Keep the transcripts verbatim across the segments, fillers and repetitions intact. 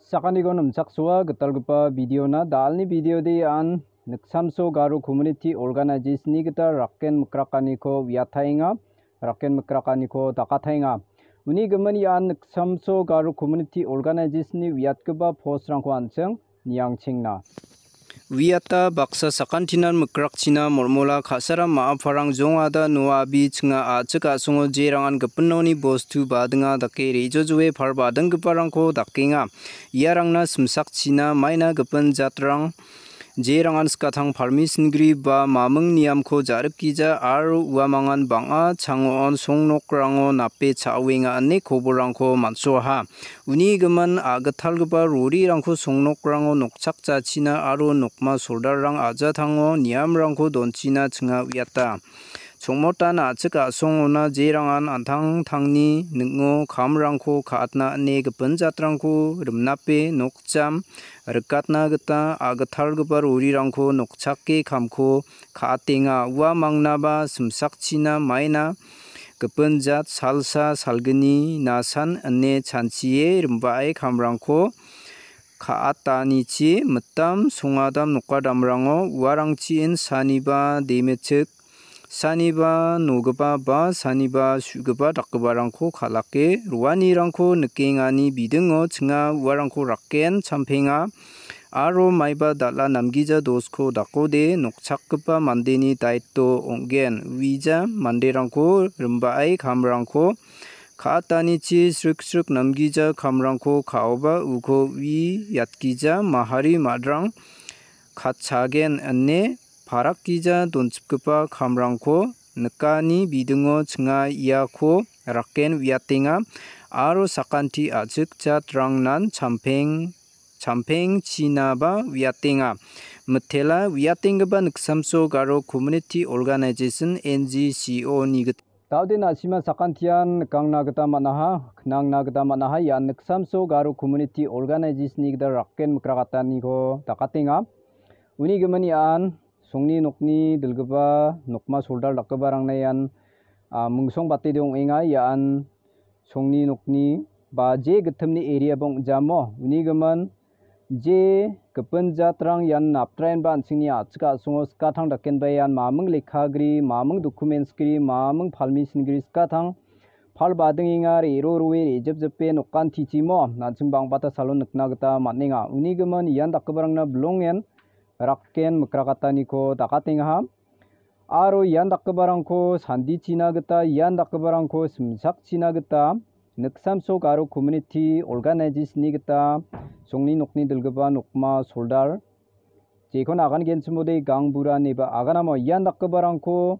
Sakantikon nimchaksoa gitalgipa videona. Dalni videode an Niksamso Garo Community Organization-ni gita rakken mikrakaniko uiataenga, rakken mikrakaniko dakataenga. Uni gimin ian Niksamso Garo Community Organization-ni uiatgipa postrangko an·ching niangchengna. Uiata baksa sakantinan mikrakchina molmola ka·saram ma·a parang jongada noa abi chinga a·chik a·songo jerangan gipin noni bostu badinga dake re·jojoe pal badinggiparangko dakenga. Iarangna simsakchina maina gipin jatrang jerangan skatang palmi singri ba maming niamko ja·rikgija aro uamangan bang·a chango·on songnokrango nape cha·oenga ine koborrangko man·soaha. Uni gimin a·gitalgipa rorirangko songnokrango nokchakjachina aro nokma soldarrang a·jatango niamrangko donchina chinga uiata. Chongmotan a·chik a·songona jerangan an·tangtangni ning·o kamrangko ka·atna ine gipin jatrangko rimnape nokjam rikatna gita a·gitalgipa rorirangko nokchake kamko ka·atenga. Ua mangnaba simsakchina maina gipin jat salsa salgni nasan ine chanchie rimbae kamrangko ka·atanichi mitam songadam nokadamrango uarangchin saniba demechik, saniba nogipa ba saniba su·gipa dakgiparangko kal·ake roanirangko nikengani bidingo chinga uarangko rakken champenga aro maiba dal·a namgija dosko dakode nokchakgipa mandeni daito ong·gen. Uija manderangko rimbae kamrangko ka·atanichi sriksrik namgija kamrangko ka·oba uko ui yatgija mahari madrang katchagen ine parakgija donchipgipa kamrangko nikani bidingo chinga iako rakken uiatenga aro sakanti a·chik jatrangnan champeng, champengchinaba uiatenga. Mitela uiatenggipa Niksamso Garo Community Organization, N G C O-ni gita. Daode na·sima sakantian nikangna gita man·aha, knangna gita man·aha, ian Niksamso Garo Community Organization-ni gita rakken mikrakataniko dakatenga. Uni gimin ian songni nokni dilgipa nokma soldar dakgiparangna ian, a, mingsongbate ong·enga. Ian songni nokni ba je gittimni area-ba ong·jamo. Uni gimin je gipin jatrang ian naptraenba an·chingni a·chik a·songo skatang dakenba ian maming lekka gri, maming documents gri, maming palmi singri skatang pal badingenga re·ro roe re·jipjipe nokantichimo an·ching bang·bata salon nikna gita man·enga. Uni gimin ian dakgiparangna bilongen rakken mikrakataniko dakatengaha. Aro ian dakgiparangko sandichina gita, ian dakgiparangko simsakchina gita, Niksamso Garo Community Organization-ni gita songni nokni dilgipa nokma soldar, jekon agan genchimode gangbura ineba aganamo ian dakgiparangko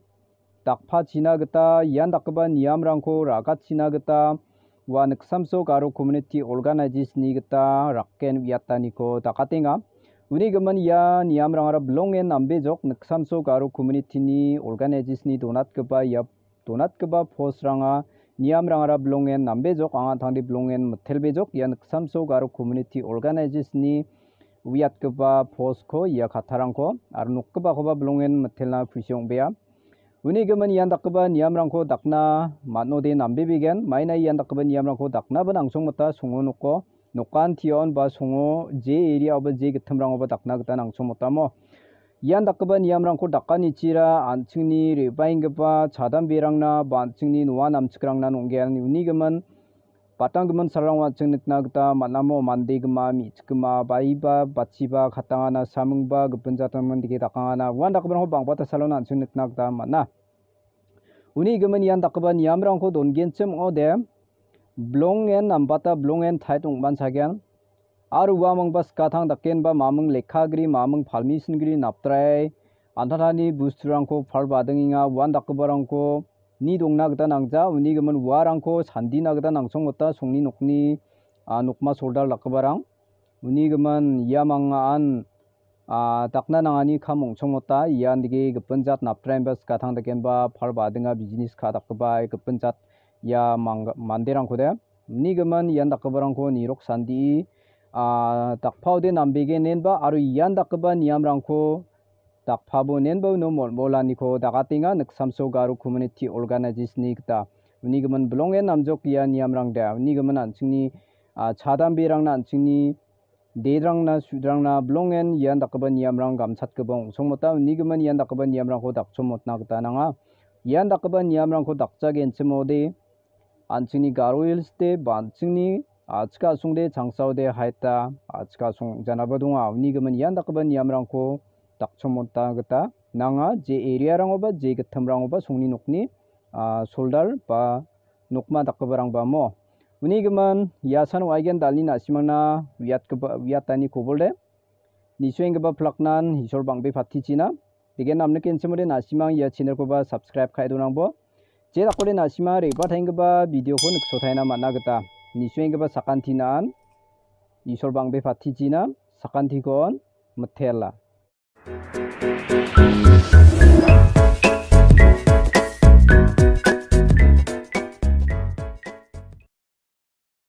dakpachina gita, ian dakgipa niamrangko ra·gachina gita, ua Niksamso Garo Community Organization-ni gita rakken uiataniko dakatenga. Uni gimin ia niamrangara bilongen nambejok Niksamso Garo Community-ni organization-ni donatgipa ia donatgipa postranga niamrangara bilongen nambejok, anga tangde bilongen mitelbejok. Ia Niksamso Garo Community Organization-ni uiatgipa postko ia kattarangko aro nokgipakoba bilongen mitelna kusi ong·bea. Uni gimin ian dakgipa niamrangko dakna man·ode nambebegen. Maina ian dakgipa niamrangko daknaba nangchongmota songo noko, nokan tion ba songo je area-oba je gittimrangoba dakna gita nangchongmotamo. Ian dakgipa niamrangko dakanichira an·chingni re·baenggipa chadamberangna ba an·chingni noa namchikrangna nong·gen. Uni gimin Batanggimin salrango an·ching nikna gita man·amo mande gima, me·chikgima, baiba, batchiba, katangana, samingba, gipin jatrangmandike dakangana, uan dakgiparangko bang·bata salon an·ching nikna gita man·a. Uni gimin ian dakgipa niamrangko dongenchim ong·ode, bilongen nambata, bilongen tait ong·manchagen. Aro uamangba skatang dakenba maming lekka gri, maming palmi singri napdrai, antatani busturangko pal badengenga, uan dakgiparangko ni dongna gita nangja, uni gimin uarangko sandina gita nangchongmota songni nokni, a, nokma soldar dakgiparang. Uni gimin ia mangaan, a, dakna nangani kam ong·chongmota, ian dike gipin jat napdraienba skatang dakenba pal badenga bijnis ka·a dakgipa gipin jat ia mang-, manderangkode. Uni gimin ian dakgiparangko nirok sandie, a, dakpaode nambegenenba aro ian dakgipa niamrangko dakpabo nenba uno molmolaniko dakatenga Niksamso Garo Community Organization-ni gita. Uni gimin bilongen namjok ia niamrangde. Uni gimin an·chingni, a, chadamberangna an·chingni dedrangna, sudrangna, bilongen ian dakgipa niamrang gamchatgipa ong·songmota, unigimin ian dakgipa niamrangko dakchomotna gita nanga. Ian dakgipa niamrangko dakjagenchimode, an·chingni Garo Hills-de, ba an·chingni, a·chik asongde, changsaode, haita, a·chik asong janaba donga. Unigimin ian dakgipa niamrangko dakchomotna gita nanga, je area-rangoba, je gittimrangoba songni nokni, a, soldar ba nokma dakgiparangba mo. Unigimin, ia san ong·aigen dalni na·simangna uiatgipa, uiatani kobolde. Nisuenggipa plaknan Isol bang·be patichina. Degen namnikenchimode na·simang ia channel-koba subscribe ka·e donangbo. Je dakode na·simang re·bataenggipa video-ko niksotaina man·a gita. Nisuenggipa sakantinan Isol bang·be patichina, sakantikon mitela.